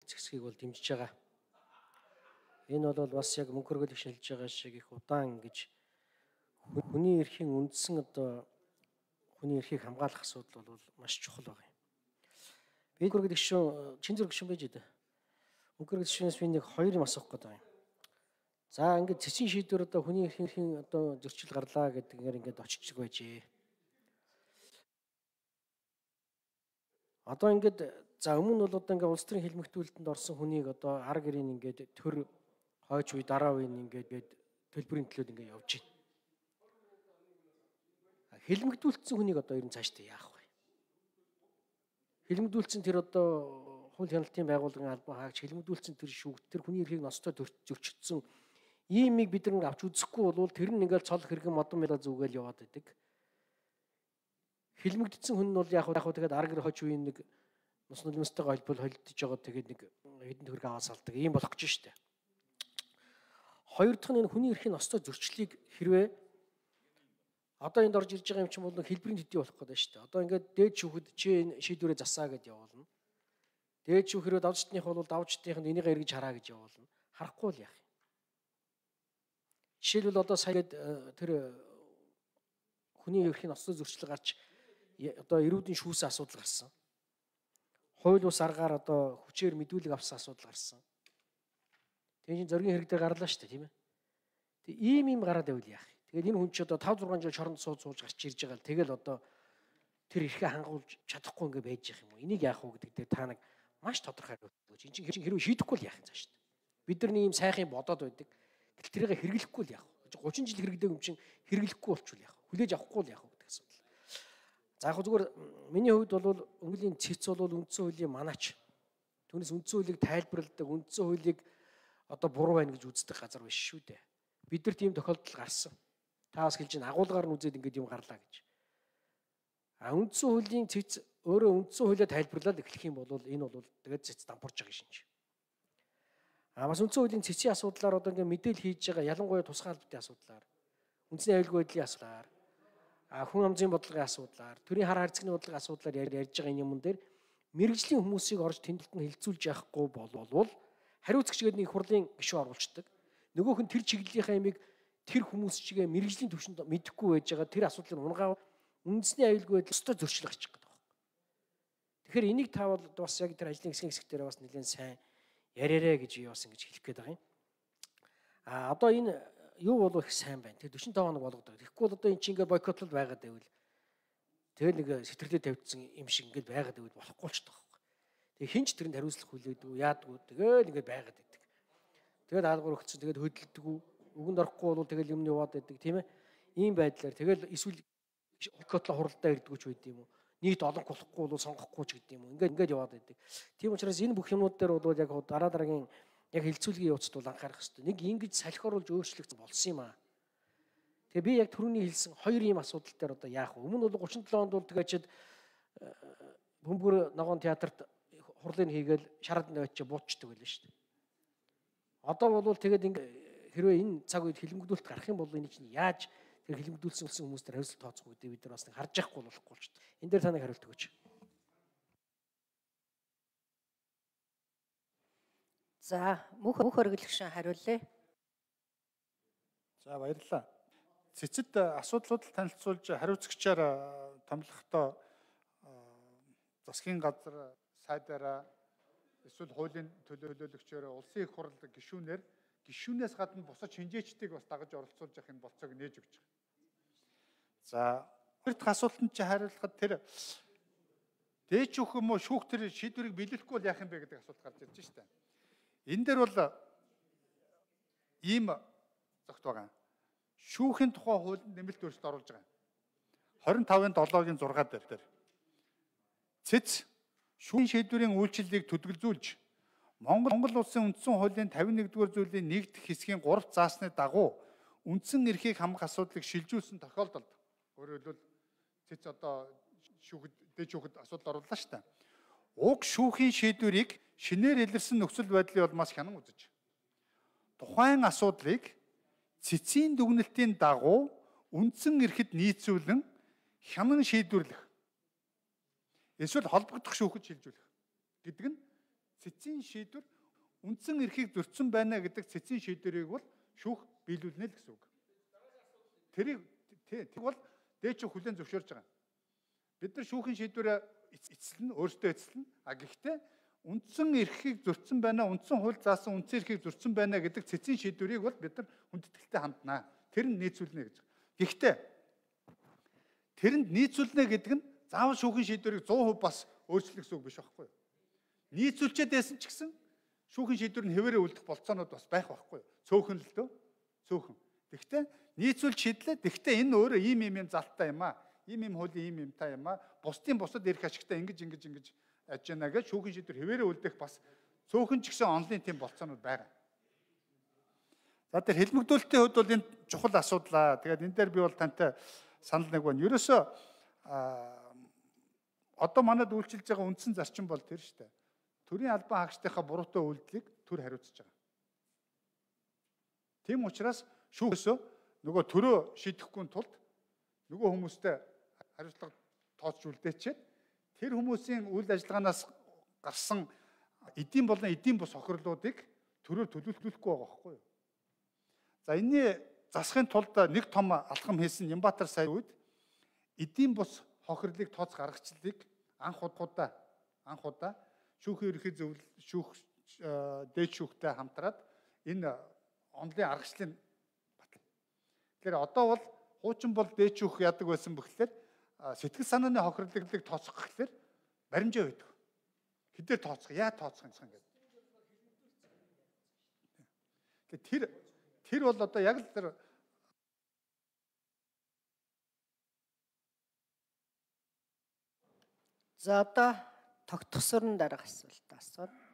зэгсгийг бол дэмжиж байгаа. Энэ бол бас яг мөнгө хөргөлийг шинжилж байгаа шиг их удаан ингэж хүний эрхийн үндсэн одоо хүний эрхийг хамгаалах асуудал бол маш чухал байна. Би мөнгө хөргөлийг чин зэрэг гүшүүн байж дээ. Мөнгө хөргөлийг шинээс би нэг хоёр юм асуух гэдэг юм. За ингээд цэцгийн шийдвэр одоо хүний эрхийн одоо зөрчил гарлаа гэдгээр ингээд очиж байжээ. Одоо ингээд за өмнө бол одоо ингээд улс төрийн хэлмэгтүүлэлтэнд орсон хүнийг одоо ар гэрийн ингээд төр хойч үе дараа үе ингээд төлбөрийн төлөөд ингээд явж байна. Хэлмэгдүүлсэн хүнийг одоо ер нь цаашдаа яах вэ? Хэлмэгдүүлсэн тэр одоо хууль хяналтын байгууллагын албан хаагч хэлмэгдүүлсэн тэр шүүгт тэр хүний эрхийг ностой зөрчигдсөн иймийг бид нэг авч үзэхгүй бол тэр нь ингээд цол хэрэгэн модон мэлээ зүгээл яваад байдаг. Хэлмэгдсэн хүн нь бол яг тэгээд ар гэр хож үеийн нэг нус нулимстэйгээ холбол холдож байгаа тэгээд нэг хэдэн төгрөг аваад салдаг ийм болох гэж штэ. Хоёр дахь нь энэ хүний эрхийн ностой зөрчлийг хэрвээ одоо энд орж ирж байгаа юм чинь бол хэлбэрийн төдий болох гэдэг штэ. Одоо ингээд дээд шүүхэд чи энэ шийдвэрээ засаа гэж явуулна. Дээд шүүх хэрвээ давжтных бол давжтных нь энийг эргэж хараа гэж явуулна. Харахгүй л яах юм. Жишээлбэл одоо сая тэр хүний эрхийн ностой зөрчил гарч одоо эрүүдийн шүүсийн асуудал гарсан. Хууль бус аргаар одоо хүчээр мэдүүлэг авсан асуудал гарсан. Тэгээ чинь зоргийн хэрэг дээр гарлаа шүү дээ, тийм ээ. Тэгээ ийм гараад байвал яах вэ? Тэгээд энэ хүн чи одоо 5 6 жил шоронд сууж гарч ирж байгаа л тэгэл одоо тэр эрхээ хангуулж чадахгүй ингээ байж явах юм уу? Энийг яах вэ гэдэг дээр та нэг маш тодорхой өгөөч. Энд чинь хэрвээ шийдэхгүй л яах юм цааш шүү дээ. Бид нар ийм сайхан бодоод байдаг. Гэтэл тэрийг хэрэглэхгүй л яах вэ? 30 жил хэрэглэдэг юм чинь хэрэглэхгүй болчихвол яах вэ? Хүлээж авахгүй л яах вэ гэдэг асуудал. За яг зүгээр миний хувьд бол өнгөлийн цэц бол үндсэн хуулийн манаач. Түүнээс үндсэн хуулийг тайлбарладаг, үндсэн хуулийг одоо буруу байна гэж үздэг газар биш шүү дээ. Бид нар тийм тохиолдол гарсан. Та бас хэлж байна агуулгаар нь үзээд ингэж юм гарлаа гэж. Үндсэн хуулийн цэц өөрөө үндсэн хуулиа тайлбарлаад эхлэх юм бол энэ бол тэгээд цэц дампуурж байгаа шинж. Бас үндсэн хуулийн цэцийн асуудлаар одоо ингэ мэдээлэл хийж байгаа ялангуяа тусгай албатын асуудлаар, үндэсний аюулгүй байдлын асуудлаар, хүн амжийн бодлогын асуудлаар, төрийн хар харьцагны бодлогын асуудлаар ярьж байгаа энэ юмн дээр мэрэгжлийн хүмүүсийг орж тэмдэлтэнд хилцүүлж яахгүй болвол хариуцагч гэдэг нэг хурлын гишүүн оруулцдаг. Нөгөөх нь тэр чиглэлийнхаа ямиг тэр хүмүүс чигээ мэрэгжлийн түвшинд мэдэхгүй байж байгаа тэр асуудлыг унгаа үндэсний аюулгүй байдал өстой зөрчил гарчих гэдэг байна. Тэгэхээр энийг та бол бас яг тэр ажлын хэсэг дээр бас нэлээд сайн яриарэ гэж би бас ингэж хэлэх гээд байгаа юм. Одоо энэ юу болов их сайн байна. Тэр 45 хоног болгодог. Тэгэхгүй бол одоо эн чинь ингээд бойкотлол байгаад байвал тэгэл нэг сэтгэлдээ тавьдсан юм шиг ингээд байгаад байвал болохгүй ч таахгүй. Тэгээ хинч тэрэнд хариуцлах хүлээдэг, яадгүй тэгэл ингээд байгаад байдаг. Тэгээд даалгавар өгсөн тэгээд хөдөлдөг, өгөнд орохгүй бол тэгэл юмны яваад байдаг тийм ээ. Ийм байдлаар тэгэл эсвэл бойкотлол хуралдаа ирдэг ч байд юм уу. Нийт олон болохгүй бол сонгохгүй ч гэдэг юм уу. Ингээд яваад байдаг. Тийм учраас энэ бүх юмнууд дээр бол яг дараагийн яг хилцүүлгийн явцд бол анхаарах хэрэгтэй. Нэг ингэж салхи оруулж өөрчлөгдсөн болсон юм аа. Тэгээ би яг түрүүний хэлсэн хоёр ийм асуудал дээр одоо яах вэ? Өмнө бол 37 онд бол тэгээчэд Бөмбөр ногоон театрт хурлыг хийгээл шараад навчаа буутчдаг байлаа шүү дээ. Одоо бол тэгээд хэрвээ энэ цаг үед хэлмэгдүүлэлт гарах юм бол энэ чинь яаж тэр хэлмэгдүүлсэн хүмүүстээр хариуцлага тооцох үү гэдэг бид нар бас нэг харж яахгүй болохгүй ч. Энэ дээр та нэг хариулт өгөөч. За мөнх хөргөлгшин хариулъя. За баярлалаа. Цэцэд асуудлуудыг танилцуулж хариуцагчаар томлохдоо засгийн газар сайдаараа эсвэл хуулийн төлөөлөгчөөр улсын их хурл гишүүнээр гишүүнээс гадна бусад шинжээчдийг бас дагаж оролцуулж явах энэ болцоог нээж өгч байгаа. За хоёр дахь асуултанд чи хариулахад тэр дээд шүүх юм уу шүүх тэр шийдвэрийг биелүүлэхгүй бол яах юм бэ гэдэг асуулт гарч ирж байна шүү дээ. Энэ дээр бол ийм зогт байгаа. Шүүхийн тухай хуулинд нэмэлт өөрчлөлт оруулж байгаа. 25-ын 7-гийн 6 дээр цэц шүүхийн шийдвэрийн үйлчлэлийг төдөлзүүлж Монгол улсын үндсэн хуулийн 51-р зүйлийн 1 дахь хэсгийн 3 заасны дагуу үндсэн эрхийг хамгаах асуудлыг шилжүүлсэн тохиолдолд өөрөөр хэлбэл цэц одоо дээд шүүхэд асуудал орууллаа шүү дээ. Уг шүүхийн шийдвэрийг шинээр илэрсэн нөхцөл байдлыг бол маш хянан үзэж тухайн асуудлыг цэцийн дүгнэлтийн дагуу үндсэн эрхэд нийцүүлэн хянан шийдвэрлэх эсвэл холбогдох шүүхэд шилжүүлэх гэдэг нь цэцгийн шийдвэр үндсэн эрхийг зөрчсөн байна гэдэг цэцгийн шийдвэрийг бол шүүх биелүүлнэ л гэсэн үг. Тэрийг бол дээд шүүх хүлээн зөвшөөрж байгаа. Бид нар шүүхийн шийдвэрээ эцэлнэ, өөрсдөө эцэлнэ. Гэхдээ үндсэн эрхийг зөрчсөн байна, үндсэн хууль заасан үндсэн эрхийг зөрчсөн байна гэдэг цэцгийн шийдвэрийг бол бид нар хүндэтгэлтэй ханднаа. Тэр нь нийцүүлнэ гэж. Гэхдээ тэрэнд нийцүүлнэ гэдэг нь заавал шүүхийн шийдвэрийг 100% бас өөрчлөх гэсэн үг биш байхгүй юу? Нийцүүлчихэд байсан ч гэсэн шүүхийн шийдвэр нь хэвээрээ үлдэх болцоонууд бас байх байхгүй юу? Цөөхөн л дөө. Цөөхөн. Гэхдээ нийцүүлж шийдлээ. Гэхдээ энэ өөрөө ийм залттай юм аа. Ийм хуулийн юмтай юм аа. Бусдад эрх ашигтай ингэж аж яана гэж шүүхийн шийдвэр хэвээрээ үлдэх бас цөөхөн ч гэсэн онлын тийм болцоонууд байгаа. За тэр хэлмэгдүүлэлтийн хувьд бол энэ чухал асуудал. Тэгээд энэ дээр би бол тантай санал нэг байна. Ерөөсөө одоо манад үйлчилж байгаа үндсэн зарчим бол тэр шүү дээ. Төрийн албан хаагчдынхаа буруутай үйлдэлийг төр хариуцж байгаа. Тийм учраас шүүхөөсөө нөгөө төрөө шийдэхгүй тулд нөгөө хүмүүстэй хариуцлага тооцож үлдээчихэд тэр хүмүүсийн үйл ажиллагаанаас гарсан эдийн болон эдийн бус хохирлуудыг төрөөр төлөвлөхгүй байгаа байхгүй юу? За энэний засахын тулд нэг том алхам хийсэн Нямбатар сая үед эдийн бус хохирлыг тооц гаргачлалыг анх удаа шүүхийн ерөнхий зөвлөл дээд шүүхтэй хамтраад энэ онлын аргачлалыг батлав. Тэгэхээр одоо бол хуучин бол дээд шүүх яадаг байсан бөхлөөр сэтгэл санааны хохирлыг тооцох гэхлээр баримжаа байдаг. Хэдээр тооцох, яа тооцох юм гэдэг. Тэр бол одоо яг л тэр За одоо тогтгосоор нь дараах асуулт асууна.